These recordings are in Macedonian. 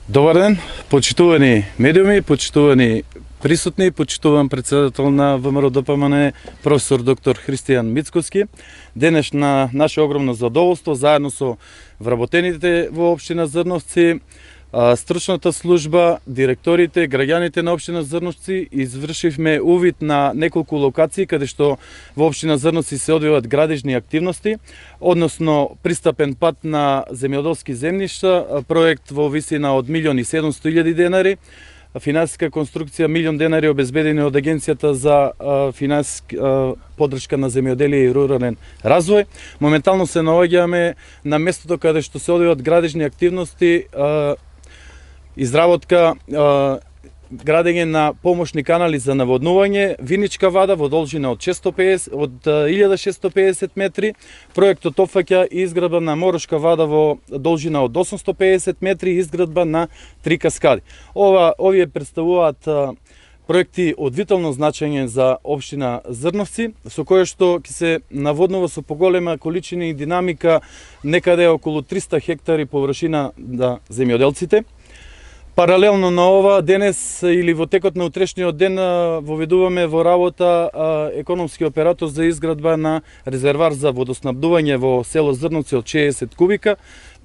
Добар ден, почитувани медиуми, почитувани присутни, почитуван председател на ВМРО ДПМН, професор доктор Христијан Мицкоски. Денес на наше огромно задоволство, заедно со вработените во општина Зрновци, стручната служба, директорите, граѓаните на општина Зрновци, извршивме увид на неколку локации каде што во општина Зрновци се одвиваат градежни активности, односно пристапен пат на земјоделски земјишта, проект во висина од 1.700.000 денари, финансиска конструкција 1.000.000 денари обезбедени од Агенцијата за финансиска поддршка на земјоделие и рурален развој. Моментално се наоѓаме на местото каде што се одвиваат градежни активности, изработка, градење на помошни канали за наводнување, виничка вада во должина од 1650 метри. Проектот опфаќа изградба на морошка вада во должина од 850 метри и изградба на 3 каскади. Овие представуваат проекти од витално значење за општина Зрновци, со кое што ќе се наводнува со поголема количина и динамика некаде околу 300 хектари површина на земјоделците. Паралелно на ова, денес или во текот на утрешниот ден воведуваме во работа економски оператор за изградба на резервар за водоснабдување во село Зрновци од 60 кубика.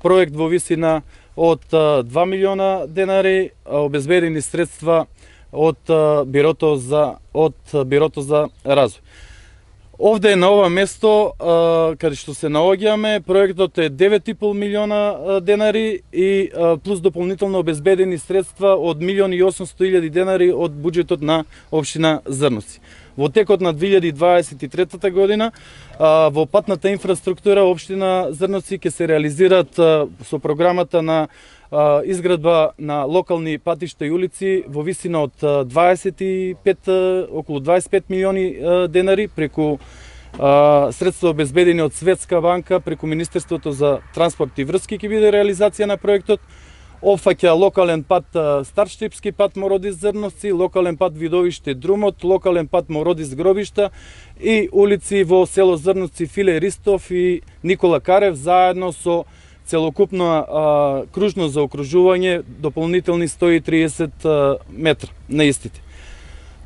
Проект во висина од 2 милиона денари, обезбедени средства од Бирото за развој. Овде на ова место, каде што се наоѓаме, проектот е 9,5 милиона денари и плюс дополнително обезбедени средства од 1.800.000 денари од буџетот на општина Зрновци. Во текот на 2023 година, во патната инфраструктура општина Зрновци ќе се реализираат со програмата на изградба на локални патишта и улици во висина од околу 25 милиони денари преку средства обезбедени од Светска банка, преку Министерството за транспорт и врски ќе биде реализација на проектот. Опфаќа локален пат Старштипски пат Мородис Зрновци, локален пат Видовиште Друмот, локален пат Мородис Гробишта и улици во село Зрновци Филе Ристов и Никола Карев, заедно со целокупно кружно заокружување, дополнителни 130 метра на истите.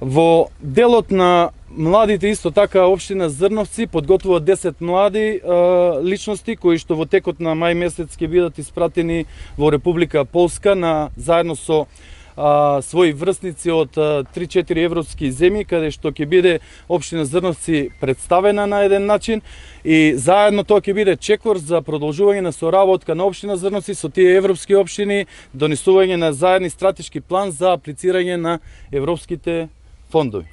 Во делот на младите исто така општина Зрновци подготвува 10 млади личности кои што во текот на мај месец ќе бидат испратени во Република Полска заедно со своји врсници од 3-4 европски земји, каде што ќе биде општина Зрновци представена на еден начин и заедно тоа ќе биде чекор за продолжување на соработка на општина Зрновци со тие европски општини, донесување на заедни стратешки план за аплицирање на европските фондови.